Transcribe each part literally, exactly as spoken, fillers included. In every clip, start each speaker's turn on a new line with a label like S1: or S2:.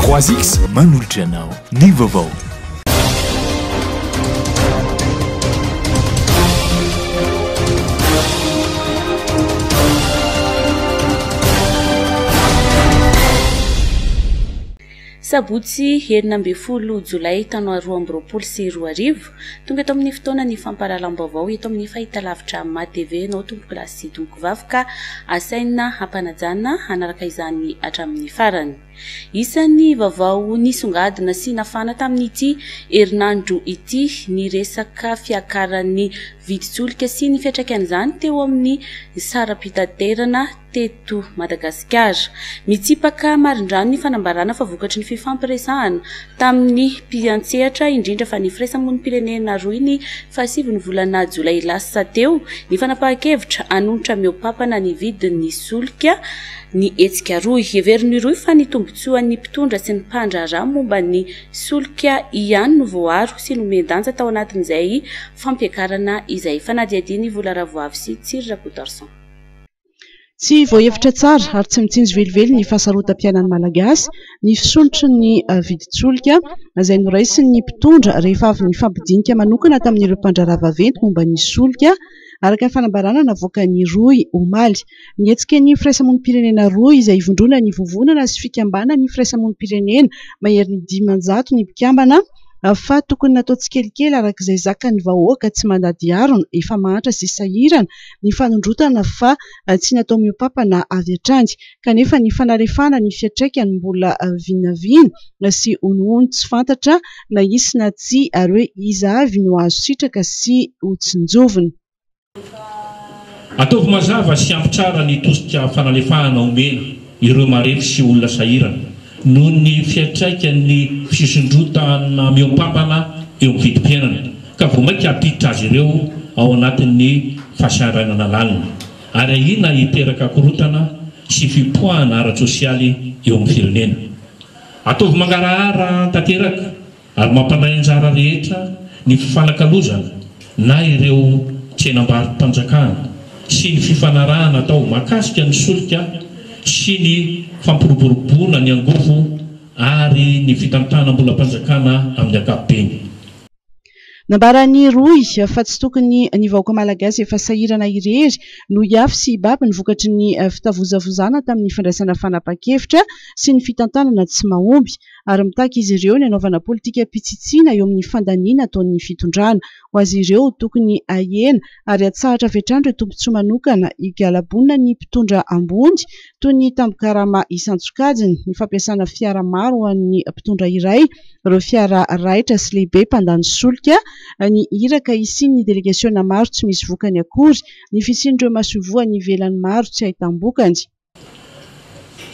S1: Trois X manolotra anao ny vaovao.
S2: Sabotsy enina ambin'ny folo jolay taona roa amby roapolo sy roa arivo, tonga eto amin'ny fotoana ny fampahalalam-baovao eto amin'ny fahitalavitra M A T V nao tompoko lahy sy tompoko vavy ka asaina hampanajana hanaraka izany hatramin'ny farany. Isan'ny vaovao nisongadina sy nafana tamin'ity herinandro ity ny resaka fiakaran'ny vidin-tsolika sy ny fiantraikan'izany teo amin'ny saram-pitaterana teto Madagasikara. Mitsipaka marindrano ny fanambarana fa vokatry ny fifampiresahana tamin'ny mpiantsehatra, indrindra fa ny firaisamonim-pirenena roa ny fahasivy ny volana jolay lasa teo, ny fanapahan-kevitra hanonitra mihoa-pampana ny vidin'ny solika ny hetsika roa. Heverin'ny roa fa ny tombontsoan'ny mpitondra sy ny mpandraharaha momba ny solika ihany no voaaro sy nomen-danja tao anatin'izay fampiakarana izay. Fanadihadian'i Vola Ravoavy sy Tsiry Rakotoarison.
S3: Tsy voahevitra tsara ary tsy mitsinjo velively ny fahasarotam-piainan'ny Malagasy ny fisondrotry ny vidin-tsolika izay noraisin'ny mpitondra rehefa avy nifampidinika manokana tamin'ireo mpandraharaha vaventy momba ny solika, araka ny fanambarana navoakan'ny Rohy omaly. Nihetsika ny firaisamonim-pirenena roa izay ivondronan'ny vovonana sy fikambanan'ny firaisamonim-pirenena maherin'ny dimanjato ny mpikambana fa tokony natao tsikelikely araka izay zakan'ny vahoaka tsy mandady harona, efa mahantra sy sahirana ny fanondrotana fa tsy natao mihoa-pampana avy hatrany. Kanefa ny fanalefahana ny fiantraikany mbola vinavina sy honohono tsy fantatra na hisy na tsia ary hoe iza avy no azo sitraka sy ho tsinjovina.
S4: Ataovy mazava sy ampy tsara ny tosika fanalefahana omena ireo marefo sy olona sahirana noho ny fiantraikan'ny fisondrotana mihoa-pampana eo amin'ny vidim-piainana ka vao mainka hampiditra azy ireo ao anatin'ny fahasahiranana lalina ary ahiana hiteraka korontana sy fipoahana ara-tsosialy eo amin'ny firenena. Ataovy mangarahara tanteraka ary mampandray anjara rehetra ny fifanakalozana na ireo tsenam-barom-panjakana sy ny fifanarahana atao mahakasika ny solika sy ny fampiroboroboana ny angovo ary ny fitantanam-bolam-panjakana amin'ny ankapobeny.
S3: Nambaran'ny Rohy fa tsy tokony ny vahoaka malagasy efa sahirana irery no hiafy sy hibaby ny vokatry ny fitavozavozana tamin'ny fandraisana fanapahan-kevitra sy ny fitantanana tsy mahomby ary mitaky izy ireo ny hanaovana politikam-pitsitsiana eo amin'ny fandaniana ataon'ny fitondrana. Ho azy ireo tokony hahena ary hatsahatra avy hatrany ireo tombontsoa manokana higalabona ny mpitondra ambony toy ny tambin-karama isan-tsokajiny, ny fampiasana fiara maro ho an'ny mpitondra iray, ireo fiara raitra sy lehibe mpandany solika, ny iraka hisian'ny delegasiona maro tsy misy vokany akory, ny fisian'ireo masoivoho any ivelany maro tsy ahitam-bokany.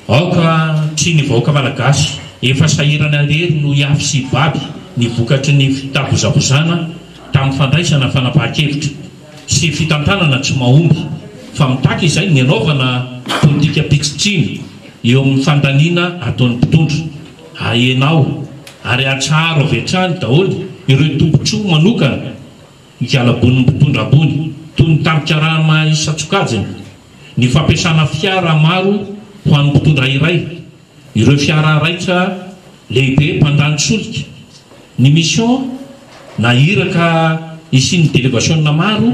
S4: Aoka tsy ny vahoaka malagasy efa sahirana irery no hiafy sy hibaby ny vokatry ny fitavozavozana tamin'ny fandraisana fanapahan-kevitra sy fitantanana tsy mahomby fa mitaky izay ny hanaovana politikam-pitsitsiana eo amin'ny fandaniana ataon'ny mpitondra. Ahenao ary atsaharo avy hatrany daholo ireo tombontsoa manokana higalabon'ny mpitondra ambony toy ny tambin-karama isan-tsokajiny, ny fampiasana fiara maro ho an'ny mpitondra iray, ireo fiara raitra lehibe mpandany solika, ny mission na iraka hisian'ny delegasiona maro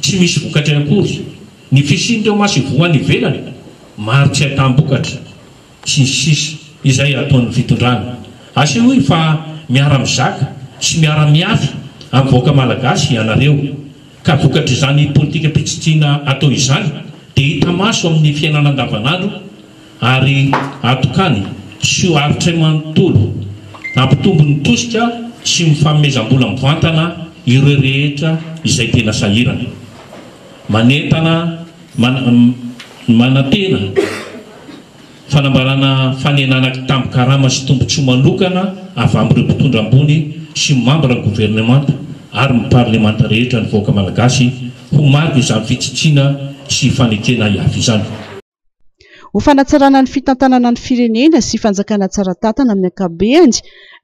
S4: tsy misy vokatra akory, ny fisian'ireo masoivoho any ivelany maro tsy ahitam-bokatra sy ny sisa izay ataon'ny fitondrana. Asehoy fa miara-mizaka sy miara-miafy amin'ny vahoaka malagasy ianareo ka vokatr'izany politikam-pitsitsiana atao izany dia hita maso amin'ny fiainana andavanandro ary atokany sy ho aritray manontolo hampitombo ny tosika sy ny fanomezam-bola mivantana ireo rehetra izay tena sahirana. Manentana, man-, manantena fanambarana fanenana tambin-karama sy tombontsoa manokana avy amin'ireo mpitondra ambony sy mambra ny governemanta ary ny parlemanta rehetra ny vahoaka malagasy ho marika izany fitsitsiana sy fanekena hiafy izany.
S3: Ho fanatsarana ny fitantanana ny firenena sy fanjakana tsara tantana amin'ny ankapobeny,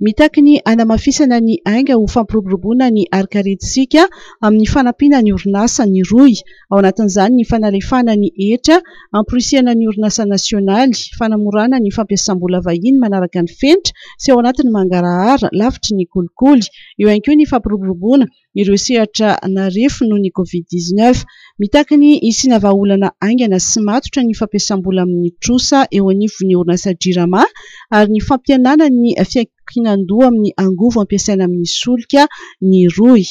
S3: mitaky ny hanamafisana ny ainga ho fampiroboroboana ny harinkarentsika amin'ny fanampiana ny orinasa ny rohy. Ao anatin'izany ny fanalefahana ny hetra, hamporisihana ny orinasa nasionaly, fanamorana ny fampiasam-bola vahiny manaraka ny fenitra sy ao anatin'ny mangarahara lavitry ny kolikoly. Eo ihany koa ny fampiroboroboana ireo sehatra narefo noho ny Covid dix-neuf. Mitaky ny hisiana vahaolana haingana sy matotra ny fampiasam-bola amin'ny trosa eo anivon'ny orinasa Jirama ary ny fampihenana ny fiankinan-doha amin'ny angovo ampiasaina amin'ny solika ny rohy.